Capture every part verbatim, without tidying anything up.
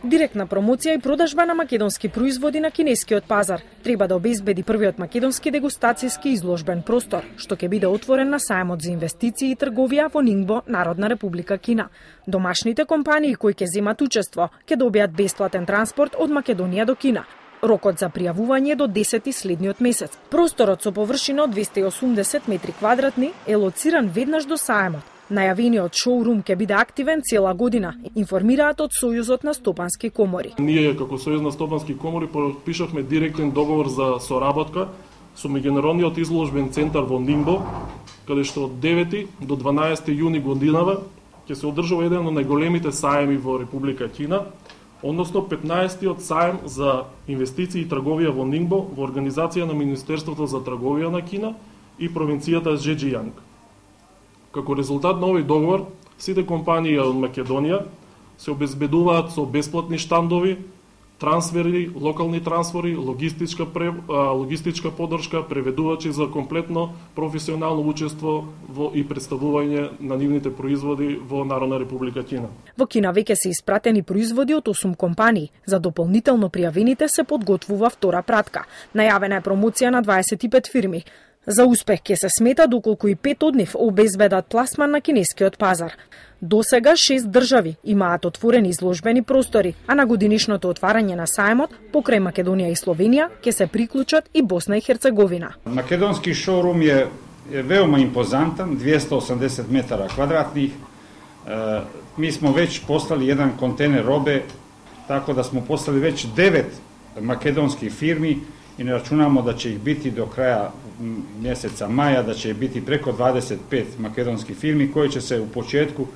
Директна промоција и продажба на македонски производи на кинескиот пазар треба да обезбеди првиот македонски дегустацијски изложбен простор, што ќе биде отворен на сајмот за инвестиции и трговија во Нингбо, Народна република Кина. Домашните компании кои ќе земат учество ќе добијат бесплатен транспорт од Македонија до Кина. Рокот за пријавување до десети следниот месец. Просторот со површина од двесте и осумдесет метри квадратни е лоциран веднаш до сајмот. Најавениот шоурум ќе биде активен цела година, информираат од Сојузот на стопански комори. Ние како Сојуз на стопански комори подпишавме директен договор за соработка со меѓународниот изложбен центар во Нингбо, каде што од девети до дванаесети јуни годинава ќе се одржува еден од најголемите сајми во Република Кина, односно петнаесеттиот сајм за инвестиции и трговија во Нингбо во организација на Министерството за трговија на Кина и провинцијата Зеџијанг. Како резултат на овој договор, сите компании од Македонија се обезбедуваат со бесплатни штандови, трансфери, локални трансфери, логистичка, пре, логистичка подршка, преведувачи за комплетно професионално учество во и представување на нивните производи во Народна република Кина. Во Кина веќе се испратени производи од осум компании. За дополнително пријавените се подготвува втора пратка. Најавена е промоција на дваесет и пет фирми. За успех ќе се смета доколку и пет од нив обезбедат пласман на кинескиот пазар. До сега шест држави имаат отворени изложбени простори, а на годинишното отварање на сајмот покрај Македонија и Словенија ќе се приклучат и Босна и Херцеговина. Македонски шоурум е, е веома импозантан, двесте и осамдесет метара квадратни. Е, ми смо веќе послали еден контейнер робе, така да смо послали веќе девет македонски фирми и не рачунамо да ќе их бити до краја месеца маја, да ќе бити преко дваесет и пет македонски фирми кои ќе се у почетку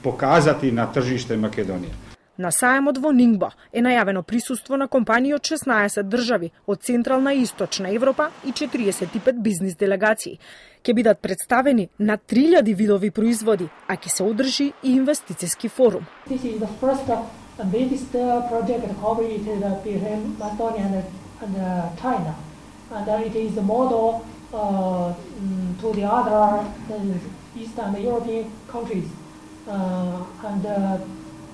показати на тржиште Македонија. На сајмот во Нингбо е најавено присуство на компании од шеснаесет држави од Централна и Источна Европа и четириесет и пет бизнис делегации. Ќе бидат представени на три илјади видови производи, а ќе се одржи и инвестициски форум. This is the first and biggest project cooperated between Macedonia and, and China, and it is the model uh, to the other uh, Eastern European countries. Uh, and uh,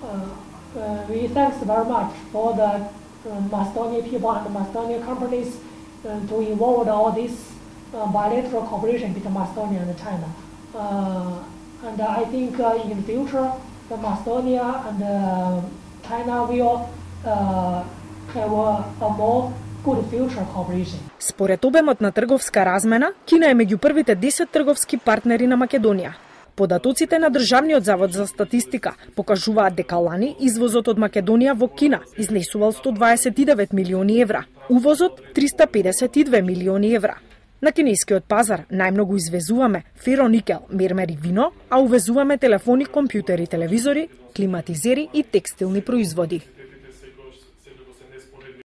uh, we thanks very much for the uh, Macedonian people and Macedonian companies uh, to involve all this uh, bilateral cooperation between Macedonia and China. Uh, and I think uh, in the future, the Macedonia and uh, China will uh, have a, a more good future cooperation. Според обемот на трговска размена, Кина е меѓу првите десет трговски партнери на Македонија. Податоците на Државниот завод за статистика покажуваат дека лани извозот од Македонија во Кина изнесувал сто дваесет и девет милиони евра, увозот триста педесет и две милиони евра. На кинескиот пазар најмногу извезуваме фероникел, мермер и вино, а увезуваме телефони, компјутери, телевизори, климатизери и текстилни производи.